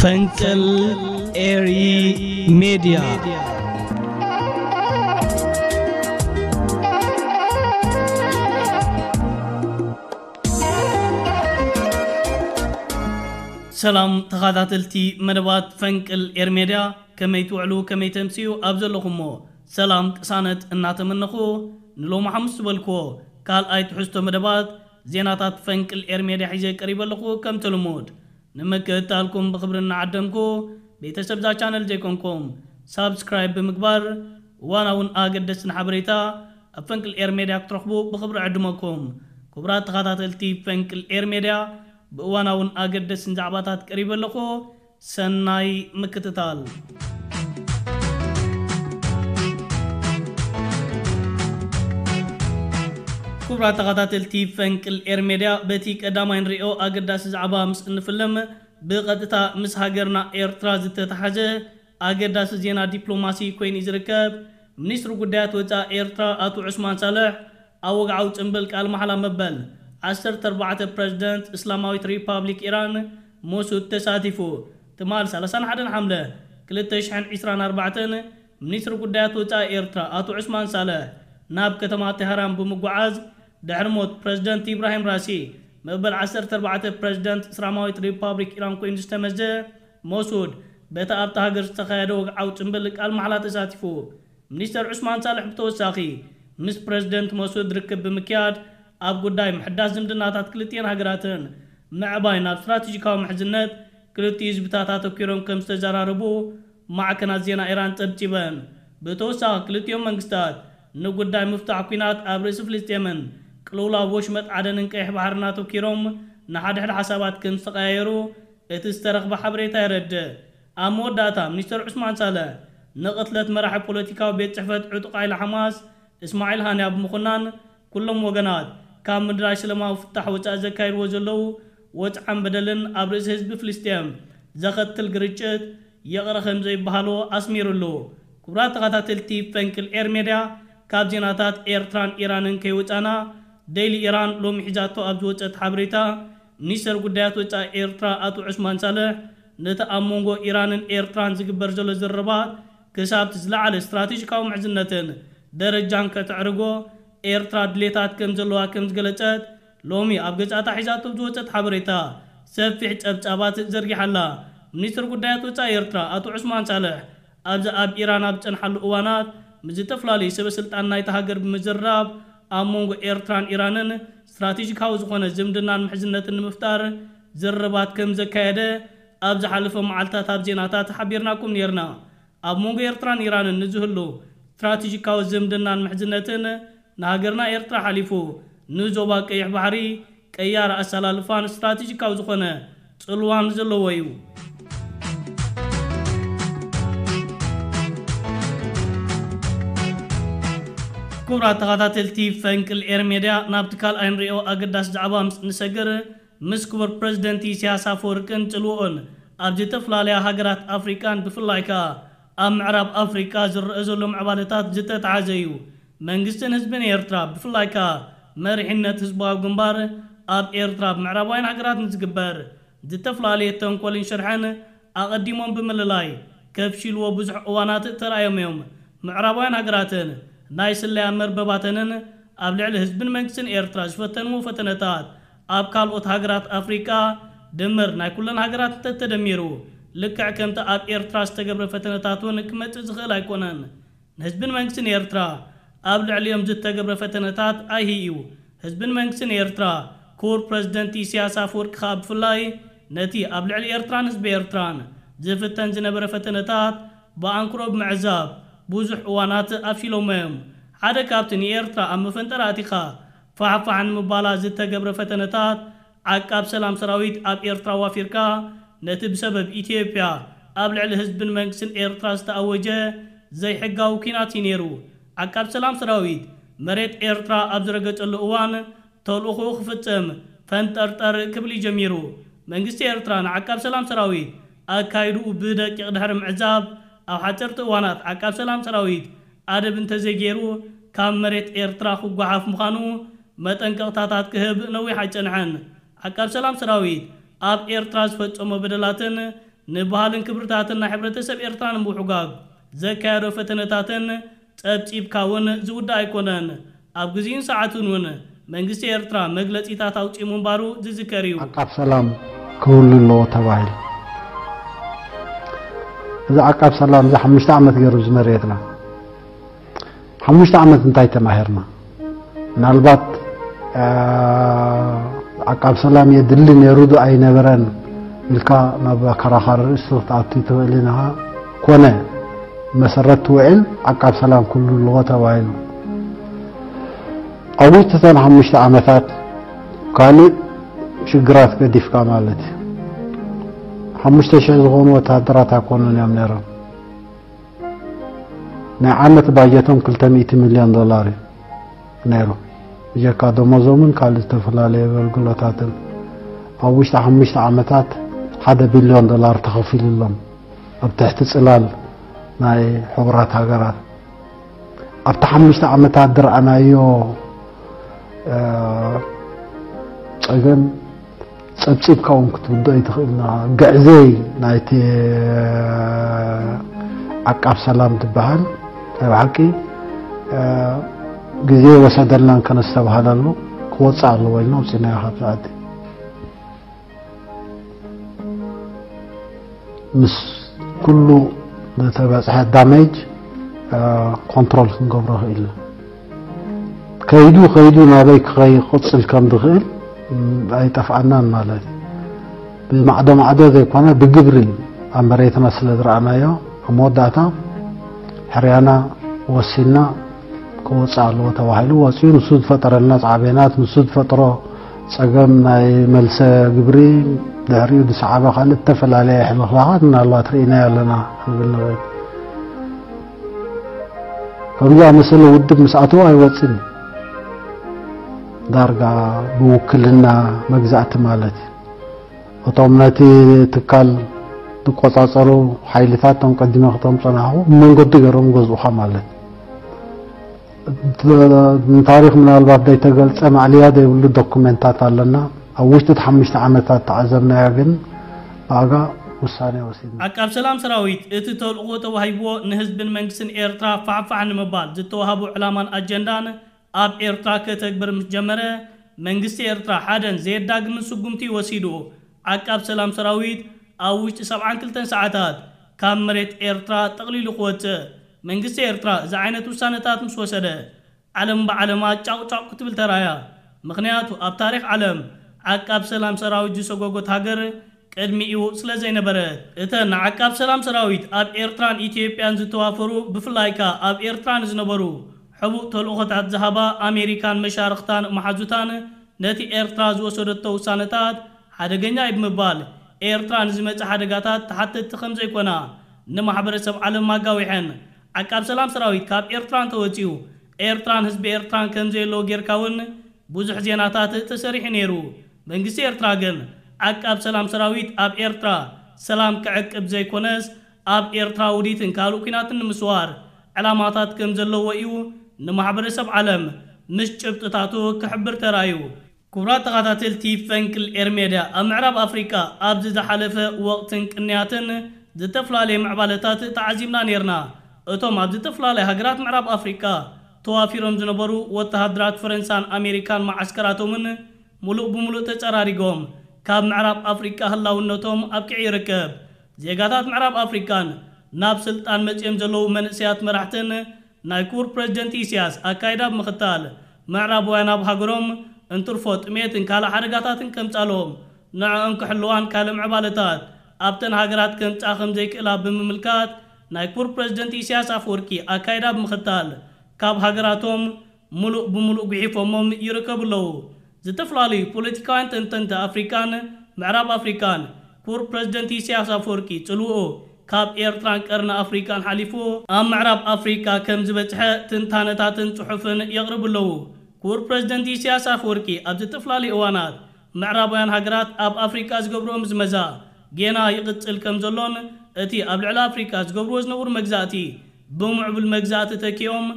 ፈንቅል ኤሪ ሜድያ። ሰላም ተኸታተልቲ መደባት ፈንቅል ኤር ሜድያ፣ ከመይ ትውዕሉ፣ ከመይ ተምስዩ? ኣብ ዘለኹሞ ሰላም ቅሳነት እናተመነኹ፣ ንሎሚ ሓሙስ ዝበልክዎ ካልኣይ ትሕዝቶ መደባት ዜናታት ፈንቅል ኤር ሜድያ ሒዘ ቀሪበ ኣለኹ። ከምቲ ልሙድ ንምክትታልኩም ብኽብሪ እናዓደምኩ፣ ቤተሰብ እዛ ቻነል ዘይኮንኩም ሳብስክራይብ ብምግባር እዋናውን ኣገደስትን ሓበሬታ ኣብ ፈንቅል ኤር ሜድያ ክትረኽቡ ብኽብሪ ዕድመኩም። ክቡራት ተኸታተልቲ ፈንቅል ኤር ሜድያ፣ ብእዋናውን ኣገደስትን ዛዕባታት ቀሪበ ኣለኹ። ሰናይ ምክትታል። ክቡራት ተኸታተልቲ ፈንቅል ኤር ሜድያ፣ በቲ ቀዳማይ ንሪኦ ኣገዳሲ ዛዕባ ምስ እንፍልም፣ ብቐጥታ ምስ ሃገርና ኤርትራ ዝተተሓዘ ኣገዳሲ ዜና ዲፕሎማሲ ኮይኑ እዩ ዝርከብ። ሚኒስትሪ ጉዳያት ወጻኢ ኤርትራ ኣቶ ዑስማን ሳልሕ ኣብ ወግዓዊ ጽምብል ቃል ማሕላ መበል ዓሰርተ ኣርባዕተ ፕረዚደንት እስላማዊት ሪፓብሊክ ኢራን መሱድ ተሳቲፉ። ትማል ሰላሳን ሓደን ሓምለ ክልተ ሽሕን ዕስራን ኣርባዕተን፣ ሚኒስትሪ ጉዳያት ወጻኢ ኤርትራ ኣቶ ዑስማን ሳልሕ ናብ ከተማ ቴህራን ብምጉዓዝ፣ ድሕሪ ሞት ፕረዚደንት ኢብራሂም ራሲ፣ መበል ዓሰርተ ኣርባዕተ ፕረዚደንት እስላማዊት ሪፓብሊክ ኢራን ኮይኑ ዝተመዘ መሱድ፣ በቲ ኣብታ ሃገር ዝተኻየደ ወግዓዊ ጽምብል ቃል ማሕላ ተሳቲፉ። ሚኒስተር ዑስማን ሳልሕ ብተወሳኺ፣ ምስ ፕረዚደንት መሱድ ርክብ ብምክያድ፣ ኣብ ጉዳይ ምሕዳስ ዝምድናታት ክልቲኤን ሃገራትን ምዕባይ ናብ ስትራቴጂካዊ ምሕዝነት ክልቲኡ ህዝብታት ኣተኲሮም ከም ዝተዘራረቡ ማዕከናት ዜና ኢራን ጸብጺበን። ብተወሳኺ፣ ክልቲኦም መንግስታት ንጉዳይ ምፍታሕ ኲናት ኣብ ርእሲ ፍልስጤምን ቅልውላው ወሽመጥ ዓደንን ቀይሕ ባሕርን ኣተኲሮም ንሓድሕድ ሓሳባት ከም ዝተቐያየሩ እቲ ዝተረኽበ ሓበሬታ የረድእ። ኣብ መወዳእታ፣ ሚኒስተር ዑስማን ሳልሕ ንቕትለት መራሒ ፖለቲካዊ ቤት ጽሕፈት ዕጡቕ ሓይሊ ሓማስ እስማዒል ሃንያ ብምኹናን፣ ኩሎም ወገናት ካብ ምድላይ ሰላማዊ ፍታሕ ወጻኢ ዘካይድዎ ዘለዉ ወጽዓን በደልን ኣብ ርእሲ ህዝቢ ፍልስጤም ዘኸትል ግርጭት ይቕረ ከም ዘይበሃሎ ኣስሚሩሉ። ክቡራት ተኸታተልቲ ፈንቅል ኤር ሜድያ፣ ካብ ዜናታት ኤርትራን ኢራንን ከይወጻና፣ ዴይሊ ኢራን ሎሚ ሒዛቶ ኣብ ዝወጸት ሓበሬታ፣ ሚኒስተር ጉዳያት ወጻኢ ኤርትራ ኣቶ ዑስማን ሳልሕ፣ ነቲ ኣብ መንጎ ኢራንን ኤርትራን ዝግበር ዘሎ ዝርርባት ክሳብ እቲ ዝለዓለ ስትራቴጂካዊ ምሕዝነትን ደረጃን ከተዕርጎ ኤርትራ ድሌታት ከም ዘለዋ ከም ዝገለጸት፣ ሎሚ ኣብ ገጻታ ሒዛቶ ዝወጸት ሓበሬታ ሰፊሕ ጸብጻባት ዘርጊሓ ኣላ። ሚኒስትር ጉዳያት ወጻኢ ኤርትራ ኣቶ ዑስማን ሳልሕ፣ ኣብዚ ኣብ ኢራን ኣብ ዝጸንሓሉ እዋናት፣ ምስ ዝተፈላለዩ ሰበ ስልጣን ናይታ ሃገር ብምዝርራብ፣ ኣብ መንጎ ኤርትራን ኢራንን ስትራቴጂካዊ ዝኾነ ዝምድናን ምሕዝነትን ንምፍጣር ዝርርባት ከም ዘካየደ ኣብ ዝሓለፈ መዓልታት ኣብ ዜናታት ሓቢርናኩም ነይርና። ኣብ መንጎ ኤርትራን ኢራንን ንዝህሉ ስትራቴጂካዊ ዝምድናን ምሕዝነትን፣ ንሃገርና ኤርትራ ሓሊፉ ንዞባ ቀይሕ ባሕሪ ቀያሪ ኣሰላልፋን ስትራቴጂካዊ ዝኾነ ጽልዋን ዘለዎ እዩ። ክቡራት ተኸታተልቲ ፈንቅል ኤር ሜድያ፣ ናብቲ ካልኣይ ንሪኦ ኣገዳሲ ዛዕባ ምስ ንሰግር፣ ምስ ክቡር ፕረዚደንት ኢሳያስ ኣፈወርቅን ጽልውኡን ኣብ ዝተፈላለያ ሃገራት ኣፍሪቃን ብፍላይ ከኣ ኣብ ምዕራብ ኣፍሪቃ ዝረአ ዘሎ ምዕባለታት ዝተተሓዘ እዩ። መንግስትን ህዝብን ኤርትራ፣ ብፍላይ ከኣ መሪሕነት ህዝባዊ ግንባር፣ ኣብ ኤርትራ ብምዕራባውያን ሃገራት ንዝግበር ዝተፈላለየ ተንኮልን ሽርሕን ኣቐዲሞም ብምልላይ ከፍሽልዎ ብዙሕ እዋናት ተራእዮም እዮም። ምዕራባውያን ሃገራትን ናይ ስለያ መርበባተንን ኣብ ልዕሊ ህዝብን መንግስትን ኤርትራ ዝፈተንዎ ፈተነታት፣ ኣብ ካልኦት ሃገራት ኣፍሪቃ ድምር ናይ ኩለን ሃገራት እንተተደሚሩ፣ ልክዕ ከምቲ ኣብ ኤርትራ ዝተገብረ ፈተነታት እውን ክመጽእ ዝኽእል ኣይኮነን። ንህዝብን መንግስትን ኤርትራ ኣብ ልዕሊኦም ዝተገብረ ፈተነታት ኣይሂ እዩ። ህዝብን መንግስትን ኤርትራ፣ ክቡር ፕረዚደንት ኢሳያስ ኣፈወርቂ ከኣ ብፍላይ፣ ነቲ ኣብ ልዕሊ ኤርትራን ህዝቢ ኤርትራን ዝፍተን ዝነበረ ፈተነታት ብኣንክሮ ብምዕዛብ፣ ብዙሕ እዋናት ኣፍሽሎሞ እዮም። ሓደ ካብቲ ንኤርትራ ኣብ መፈንጠራ ኣእቲኻ ፋሕፋሕ ንምባላ ዝተገብረ ፈተነታት፣ ዓቃብ ሰላም ሰራዊት ኣብ ኤርትራ ዋፊርካ፣ ነቲ ብሰበብ ኢትዮጵያ ኣብ ልዕሊ ህዝብን መንግስትን ኤርትራ ዝተኣወጀ ዘይሕጋዊ ኲናት እዩ ነይሩ። ዓቃብ ሰላም ሰራዊት መሬት ኤርትራ ኣብ ዝረገጸሉ እዋን፣ ተልእኾኡ ክፍጽም ፈንጠርጠር ክብል እዩ ጀሚሩ። መንግስቲ ኤርትራ ንዓቃብ ሰላም ሰራዊት ኣካይድኡ ብደቂቕ ድሕሪ ምዕዛብ፣ ኣብ ሓጸርቲ እዋናት ዓቃብ ሰላም ሰራዊት ኣደብ እንተዘይገይሩ፣ ካብ መሬት ኤርትራ ክጓሓፍ ምዃኑ መጠንቀቕታታት ክህብ ነዊሕ ኣይጸንሐን። ዓቃብ ሰላም ሰራዊት ኣብ ኤርትራ ዝፈጸሞ በደላትን ንባህልን ክብርታትን ናይ ሕብረተሰብ ኤርትራ ንምውሕጓግ ዘካየዶ ፈተነታትን ጸብጺብካ እውን ዝውዳእ ኣይኮነን። ኣብ ግዜኡን ሰዓቱን እውን መንግስቲ ኤርትራ መግለጺታት ኣውጺኡ ምንባሩ ዝዝከር እዩ። ዓቃብ ሰላም ክህሉ ኣለዎ ተባሂሉ። እዚ ዓቃብ ሰላም እዚ ሓሙሽተ ዓመት ገይሩ ዝመርየትና። ሓሙሽተ ዓመት እንታይ ተማሂርና? ምናልባት ዓቃብ ሰላም የድሊ ነይሩ ዶ ኣይነበረን ኢልካ ናብ ኣከራኻሪ ርእሲ ክትኣቱ ትኽእል ኢኻ። ኮነ መሰረት ትውዕል ዓቃብ ሰላም ኩሉ ኣለዎ ተባሂሉ። ኣብ ውሽጢ እተን ሓሙሽተ ዓመታት ካልእ ሽግራት ገዲፍካ ማለት እዩ። ሓሙሽተ ሽሕ ዝኾኑ ወተሃደራት ኣይኮኑን እዮም ነይሮም። ናይ ዓመት ባጀቶም ክልተ ሚእቲ ሚልዮን ዶላር እዩ ነይሩ። ብጀካ ደሞዞምን ካልእ ዝተፈላለዩ ኣገልግሎታትን ኣብ ውሽጢ ሓሙሽተ ዓመታት ሓደ ቢልዮን ዶላር ተኸፊሉሎም ኣብ ትሕቲ ጽላል ናይ ሕቡራት ሃገራት። ኣብቲ ሓሙሽተ ዓመታት ዝረኣናዮ ጸገም ጸብጺብካ እውን ክትውድኦ ኣይትኽእልና። ግዕዘይ ናይቲ ዓቃብ ሰላም ዝበሃል ናይ ብሓቂ ግዜ ወሰደልናን ከነስተብሃለሉ ክወፅእ ኣለዎ ኢልና ውፂናዮ ካብ ሰዓት ምስ ኩሉ ዝተበፅሐ ዳሜጅ ኮንትሮል ክንገብሮ ክኢልና። ከይዱ ከይዱ ናበይ ክኸይ ክቕፅል ከም ዝኽእል ኣይጠፍኣናን ማለት እዩ። ብማዕዶ ማዕዶ ዘይኮነ ብግብሪ ኣብ መሬትና ስለ ዝረኣናዮ ኣብ መወዳእታ ሕርያና ወሲና ክወፅእ ኣለዎ ተባሂሉ ወፂኡ። ንሱ ዝፈጠረልና ፃዕቤናት፣ ንሱ ዝፈጥሮ ፀገም ናይ መልሰ ግብሪ፣ ድሕሪኡ ዝሰዓበ ካልእ እተፈላለየ ሕልኽላኻት ምናልባት ርኢናዮ ኣለና ክንብል ንኽእል። ከምዚ ኣመሰለ ውድብ ምስ ኣተወ ኣይወፅን እዩ። ዳርጋ ብውክልና መግዛእቲ ማለት እዩ። እቶም ነቲ ትካል ዝቆጻጸሩ ሓይልታት እቶም ቀዲመ ክቶም ጸናሕኹ ብመንገዲ ገይሮም ገዝኡኻ ማለት እዩ። ንታሪኽ ምናልባት ዘይተገልጸ ማዕልያ ዘይብሉ ዶኩሜንታት ኣለና። ኣብ ውሽጢ እቲ ሓሙሽተ ዓመታት ተዓዘብናዮ ግን ብኣጋ ውሳኔ ወሲድና። ዓቃብ ሰላም ሰራዊት እቲ ተልእኾ ተዋሂብዎ ንህዝብን መንግስትን ኤርትራ ፋሕፋሕ ንምባል ዝተዋህቦ ዕላማን ኣጀንዳን ኣብ ኤርትራ ከተግብር ምስ ጀመረ፣ መንግስቲ ኤርትራ ሓደን ዘየዳግምን ስጉምቲ ወሲዱ፣ ዓቃብ ሰላም ሰራዊት ኣብ ውሽጢ ሰብዓን ክልተን ሰዓታት ካብ መሬት ኤርትራ ጠቕሊሉ ክወጽእ፣ መንግስቲ ኤርትራ እዚ ዓይነት ውሳነታት ምስ ወሰደ፣ ዓለም ብዓለማ ጫቑጫቑ ክትብል ተራእያ። ምኽንያቱ ኣብ ታሪኽ ዓለም ዓቃብ ሰላም ሰራዊት ዝሰጎጎት ሃገር ቅድሚኡ ስለ ዘይነበረት፣ እተን ንዓቃብ ሰላም ሰራዊት ኣብ ኤርትራን ኢትዮጵያን ዝተዋፈሩ፣ ብፍላይ ከኣ ኣብ ኤርትራ ንዝነበሩ ሕቡእ ተልእኾታት ዝሃባ ኣሜሪካን መሻርኽታን መሓዙታን፣ ነቲ ኤርትራ ዝወሰደቶ ውሳነታት ሓደገኛ እዩ ብምባል፣ ኤርትራ ንዝመጽእ ሓደጋታት ተሓተትቲ ከም ዘይኮና ንማሕበረሰብ ዓለም ኣጋዊሐን። ዓቃብ ሰላም ሰራዊት ካብ ኤርትራ እንተወጺኡ፣ ኤርትራን ህዝቢ ኤርትራን ከም ዘየለዎ ጌርካ እውን ብዙሕ ዜናታት ተሰሪሑ ነይሩ። መንግስቲ ኤርትራ ግን ዓቃብ ሰላም ሰራዊት ኣብ ኤርትራ ሰላም ክዕቅብ ዘይኮነስ፣ ኣብ ኤርትራ ውዲትን ካልእ ኲናትን ንምስዋር ዕላማታት ከም ዘለዎ እዩ ንማሕበረሰብ ዓለም ምስ ጭብጥታቱ ክሕብር ተራእዩ። ክቡራት ተኸታተልቲ ፈንቅል ኤር ሜድያ፣ ኣብ ምዕራብ ኣፍሪቃ ኣብዚ ዝሓለፈ ወቕትን ቅንያትን ዝተፈላለዩ ምዕባለታት ተዓዚብና ነይርና። እቶም ኣብ ዝተፈላለያ ሃገራት ምዕራብ ኣፍሪቃ ተዋፊሮም ዝነበሩ ወተሃደራት ፈረንሳን ኣሜሪካን መዓስከራቶምን ሙሉእ ብሙሉእ ተጸራሪጎም፣ ካብ ምዕራብ ኣፍሪቃ ህላውነቶም ኣብቂዑ ይርከብ። ዜጋታት ምዕራብ ኣፍሪቃን ናብ ስልጣን መጺኦም ዘለዉ መንእሰያት መራሕትን ናይ ክቡር ፕረዚደንት ኢሳያስ ኣካይዳ ብምኽታል፣ ምዕራባውያን ኣብ ሃገሮም እንትርፎ ጥሜትን ካልእ ሓደጋታትን ከምጻሎም፣ ንዕኦም ክሕልዋን ካልእ ምዕባለታት ኣብተን ሃገራት ከምጻ ከም ዘይክእላ ብምምልካት፣ ናይ ክቡር ፕረዚደንት ኢሳያስ ኣፈወርቂ ኣካይዳ ብምኽታል፣ ካብ ሃገራቶም ሙሉእ ብሙሉእ ጉሒፎሞም ይርከቡ ኣለዉ። ዝተፈላለዩ ፖለቲካውያን ተንተንቲ ኣፍሪቃን ምዕራብ ኣፍሪቃን፣ ክቡር ፕረዚደንት ኢሳያስ ኣፈወርቂ ጽልውኡ ካብ ኤርትራን ቀርኒ ኣፍሪቃን ሓሊፉ ኣብ ምዕራብ ኣፍሪቃ ከም ዝበጽሐ ትንታነታትን ጽሑፍን የቕርቡ ኣለዉ። ክቡር ፕረዚደንት ኢሳያስ ኣፈወርቂ ኣብ ዝተፈላለዩ እዋናት ምዕራባውያን ሃገራት ኣብ ኣፍሪቃ ዝገብርኦ ምዝመዛ ጌና ይቕጽል ከም ዘሎን፣ እቲ ኣብ ልዕሊ ኣፍሪቃ ዝገብርዎ ዝነበሩ መግዛእቲ ብምዕቡል መግዛእቲ ተኪኦም፣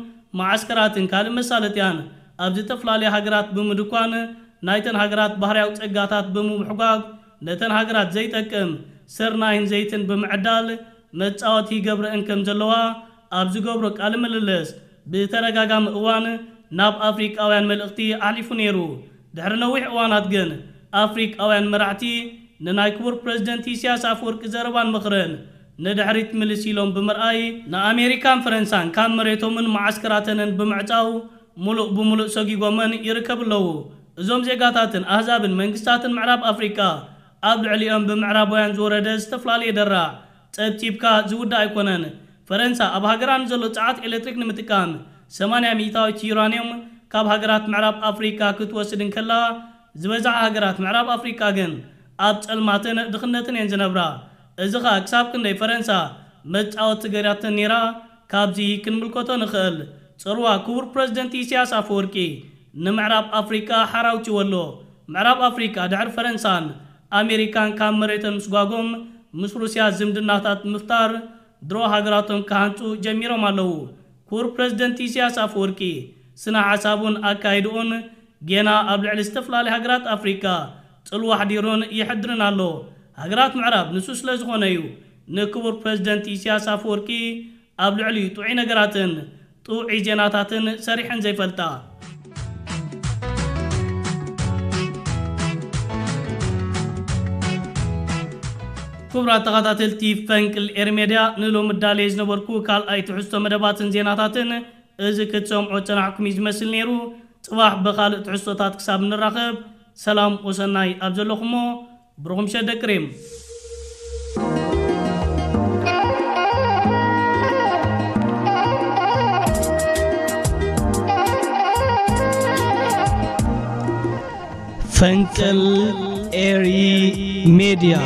መዓስከራትን ካልእ መሳለጥያን ኣብ ዝተፈላለያ ሃገራት ብምድኳን፣ ናይተን ሃገራት ባህርያዊ ጸጋታት ብምምሕጓግ፣ ነተን ሃገራት ዘይጠቅም ስርናይን ዘይትን ብምዕዳል መጻወቲ ይገብረአን ከም ዘለዋ ኣብ ዝገብሮ ቃለ ምልልስ ብተደጋጋሚ እዋን ናብ ኣፍሪቃውያን መልእኽቲ ኣሕሊፉ ነይሩ። ድሕሪ ነዊሕ እዋናት ግን ኣፍሪቃውያን መራሕቲ ንናይ ክቡር ፕረዚደንት ኢሳያስ ኣፈወርቂ ዘረባን ምኽርን ንድሕሪት ምልስ ኢሎም ብምርኣይ ንኣሜሪካን ፈረንሳን ካብ መሬቶምን መዓስከራተንን ብምዕጻው ሙሉእ ብሙሉእ ሰጊጎመን ይርከቡ ኣለዉ። እዞም ዜጋታትን ኣህዛብን መንግስታትን ምዕራብ ኣፍሪቃ ኣብ ልዕሊኦም ብምዕራባውያን ዝወረደ ዝተፈላለየ ደራዕ ጸብጺብካ ዝውዳእ ኣይኮነን። ፈረንሳ ኣብ ሃገራ ንዘሎ ጸዓት ኤሌክትሪክ ንምጥቃም ሰማንያ ሚእታዊት ዩራንዮም ካብ ሃገራት ምዕራብ ኣፍሪቃ ክትወስድ እንከላ ዝበዝሓ ሃገራት ምዕራብ ኣፍሪቃ ግን ኣብ ጸልማትን ድኽነትን እየን ዝነብራ። እዚ ኸኣ ክሳብ ክንደይ ፈረንሳ መጻወቲ ገይራተን ነይራ ካብዚ ክንምልከቶ ንኽእል። ጽርዋ ክቡር ፕረዚደንት ኢሳያስ ኣፈወርቂ ንምዕራብ ኣፍሪቃ ሓራውቲዎ ኣሎ። ምዕራብ ኣፍሪቃ ድሕሪ ፈረንሳን ኣሜሪካን ካብ መሬተን ምስጓጎም ምስ ሩስያ ዝምድናታት ምፍጣር ድሮ ሃገራቶም ክሃንጹ ጀሚሮም ኣለዉ። ክቡር ፕረዚደንት ኢሳያስ ኣፈወርቂ ስነ ሓሳቡን ኣካይድኡን ጌና ኣብ ልዕሊ ዝተፈላለዩ ሃገራት ኣፍሪቃ ጽልዋ ኣሕዲሩን ይሕድርን ኣሎ። ሃገራት ምዕራብ ንሱ ስለ ዝኾነ እዩ ንክቡር ፕረዚደንት ኢሳያስ ኣፈወርቂ ኣብ ልዕሊኡ ጥዑይ ነገራትን ጥዑይ ዜናታትን ሰሪሐን ዘይፈልጣ። ክቡራት ተኸታተልቲ ፈንቅል ኤር ሜድያ፣ ንሎሚ ዳልየ ዝነበርኩ ካልኣይ ትሕዝቶ መደባትን ዜናታትን እዚ ክትሰምዖ ጸናሕኩም እዩ ዝመስል ነይሩ። ጽባሕ ብኻልእ ትሕዝቶታት ክሳብ ንራኸብ ሰላም ወሰናይ ኣብ ዘለኹሞ ብሩኽ ምሸት ደቂ ሪም። ፈንቅል ኤሪ ሜድያ።